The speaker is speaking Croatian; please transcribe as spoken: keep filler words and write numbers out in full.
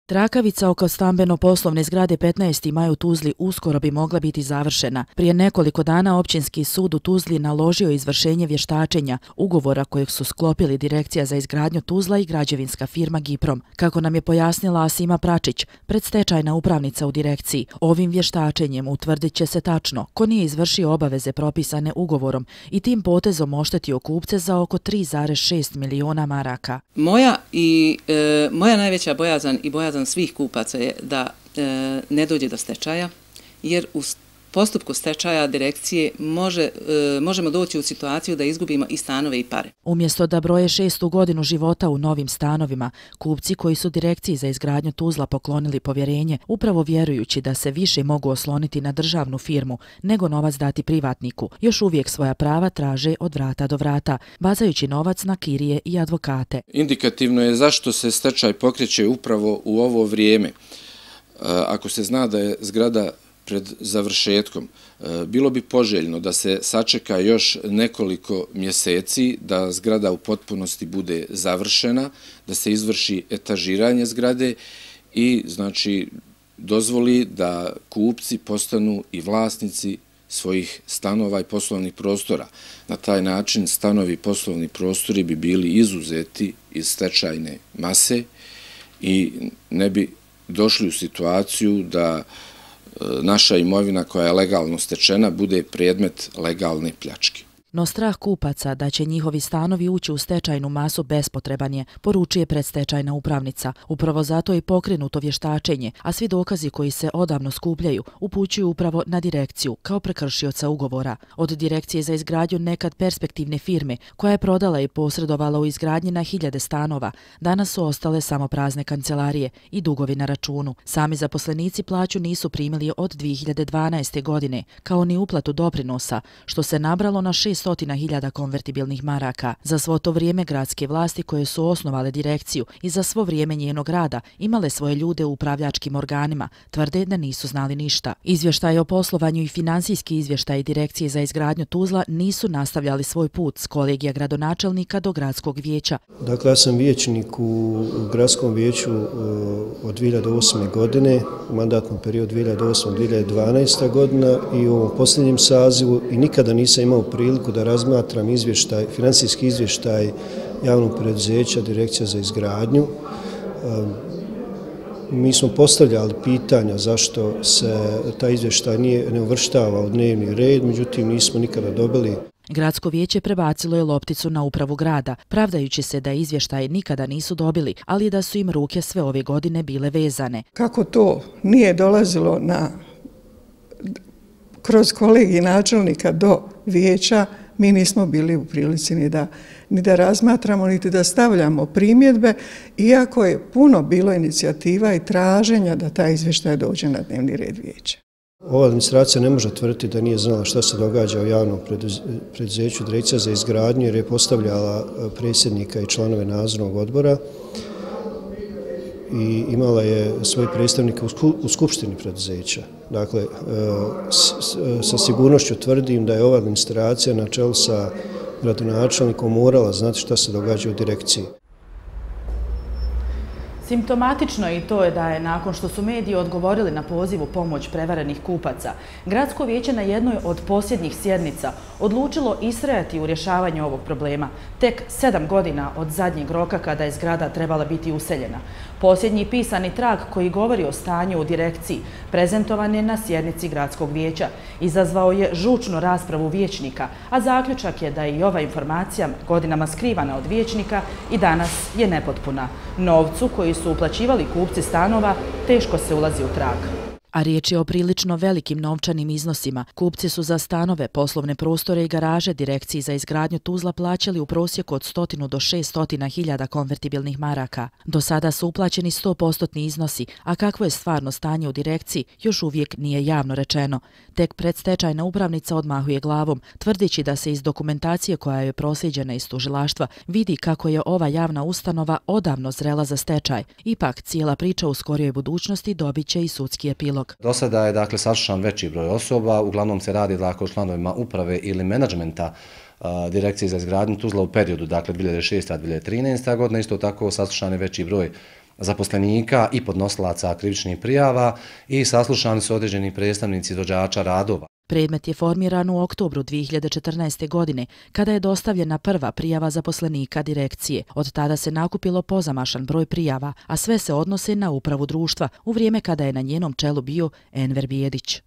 Trakavica oko stambeno-poslovne zgrade petnaest Maj u Tuzli uskoro bi mogla biti završena. Prije nekoliko dana Općinski sud u Tuzli naložio izvršenje vještačenja, ugovora kojeg su sklopili Direkcija za izgradnju Tuzla i građevinska firma Giprom. Kako nam je pojasnila Asima Pračić, predstečajna upravnica u direkciji, ovim vještačenjem utvrdit će se tačno ko nije izvršio obaveze propisane ugovorom i tim potezom oštetio kupce za oko tri zarez šest miliona maraka. Moja i e, moja najveća bojazan i bojazan svih kupaca je da e, ne dođe do stečaja, jer u postupku stečaja direkcije može, e, možemo doći u situaciju da izgubimo i stanove i pare. Umjesto da broje šestu godinu života u novim stanovima, kupci koji su Direkciji za izgradnju Tuzla poklonili povjerenje, upravo vjerujući da se više mogu osloniti na državnu firmu nego novac dati privatniku, još uvijek svoja prava traže od vrata do vrata, bazajući novac na kirije i advokate. Indikativno je zašto se stečaj pokreće upravo u ovo vrijeme. Ako se zna da je zgrada pred završetkom, bilo bi poželjno da se sačeka još nekoliko mjeseci, da zgrada u potpunosti bude završena, da se izvrši etažiranje zgrade i znači dozvoli da kupci postanu i vlasnici svojih stanova i poslovnih prostora. Na taj način stanovi i poslovni prostori bi bili izuzeti iz stečajne mase i ne bi došli u situaciju da naša imovina koja je legalno stečena bude predmet legalne pljačke. No strah kupaca da će njihovi stanovi ući u stečajnu masu bespotreban je, poručuje predstečajna upravnica. Upravo zato je pokrenuto vještačenje, a svi dokazi koji se odavno skupljaju upućuju upravo na direkciju kao prekršioca ugovora. Od Direkcije za izgradnju nekad perspektivne firme koja je prodala i posredovala u izgradnji na hiljade stanova, danas su ostale samo prazne kancelarije i dugovi na računu. Sami zaposlenici plaću nisu primili od dvije hiljade dvanaeste. godine, kao ni uplatu doprinosa, što se nabralo na šest stotina hiljada konvertibilnih maraka. Za svo to vrijeme gradske vlasti koje su osnovale direkciju i za svo vrijeme njenog rada imale svoje ljude u upravljačkim organima, tvrde da nisu znali ništa. Izvještaj o poslovanju i finansijski izvještaj Direkcije za izgradnju Tuzla nisu nastavljali svoj put s kolegija gradonačelnika do gradskog vijeća. Dakle, ja sam vijećnik u gradskom vijeću od dvije hiljade osme. godine, u mandatnom periodu dvije hiljade osme do dvije hiljade dvanaeste. godina i u ovom posljednjem sazivu i nikada nisam imao priliku da razmatram izvještaj, finansijski izvještaj javnog preduzeća Direkcija za izgradnju. Mi smo postavljali pitanja zašto se taj izvještaj nije, ne uvrštava u dnevni red, međutim nismo nikada dobili. Gradsko vijeće prebacilo je lopticu na upravu grada, pravdajući se da izvještaje nikada nisu dobili, ali da su im ruke sve ove godine bile vezane. Kako to nije dolazilo na kroz kolegij načelnika do vijeća, mi nismo bili u prilici ni da, ni da razmatramo, niti da stavljamo primjedbe, iako je puno bilo inicijativa i traženja da taj izvještaj dođe na dnevni red vijeća. Ova administracija ne može tvrditi da nije znala šta se događa u javnom preduzeću Direkcija za izgradnju, jer je postavljala predsjednika i članove nadzornog odbora i imala je svoje predstavnike u skupštini preduzeća. Dakle, sa sigurnošću tvrdim da je ova administracija na čelu sa gradonačelnikom morala znati šta se događa u direkciji. Simptomatično je i to je da je, nakon što su mediji odgovorili na poziv u pomoć prevarenih kupaca, Gradsko vijeće na jednoj od posljednjih sjednica odlučilo istrajati u rješavanju ovog problema, tek sedam godina od zadnjeg roka kada je zgrada trebala biti useljena. Posljednji pisani trag koji govori o stanju u direkciji prezentovan je na sjednici Gradskog vijeća. Izazvao je žučnu raspravu vijećnika, a zaključak je da je i ova informacija godinama skrivana od vijećnika i danas je nepotpuna. Novcu koji su uplaćivali kupci stanova teško se ulazi u trag. A riječ je o prilično velikim novčanim iznosima. Kupci su za stanove, poslovne prostore i garaže Direkciji za izgradnju Tuzla plaćali u prosjeku od stotinu do šest stotina hiljada konvertibilnih maraka. Do sada su uplaćeni sto posto iznosi, a kakvo je stvarno stanje u direkciji još uvijek nije javno rečeno. Tek predstečajna upravnica odmahuje glavom, tvrdići da se iz dokumentacije koja je proslijeđena iz tužilaštva vidi kako je ova javna ustanova odavno zrela za stečaj. Ipak, cijela priča u skorijoj budućnosti dobit će i sudski epilog. Do sada je dakle saslušan veći broj osoba, uglavnom se radi dakle o članovima uprave ili menadžmenta Direkcije za izgradnju Tuzla u periodu dakle dvije hiljade šeste do dvije hiljade trinaeste. godine, isto tako saslušan je veći broj zaposlenika i podnosilaca krivičnih prijava i saslušani su određeni predstavnici izvođača radova. Predmet je formiran u oktobru dvije hiljade četrnaeste. godine, kada je dostavljena prva prijava zaposlenika direkcije. Od tada se nakupilo pozamašan broj prijava, a sve se odnose na upravu društva, u vrijeme kada je na njenom čelu bio Enver Bijedić.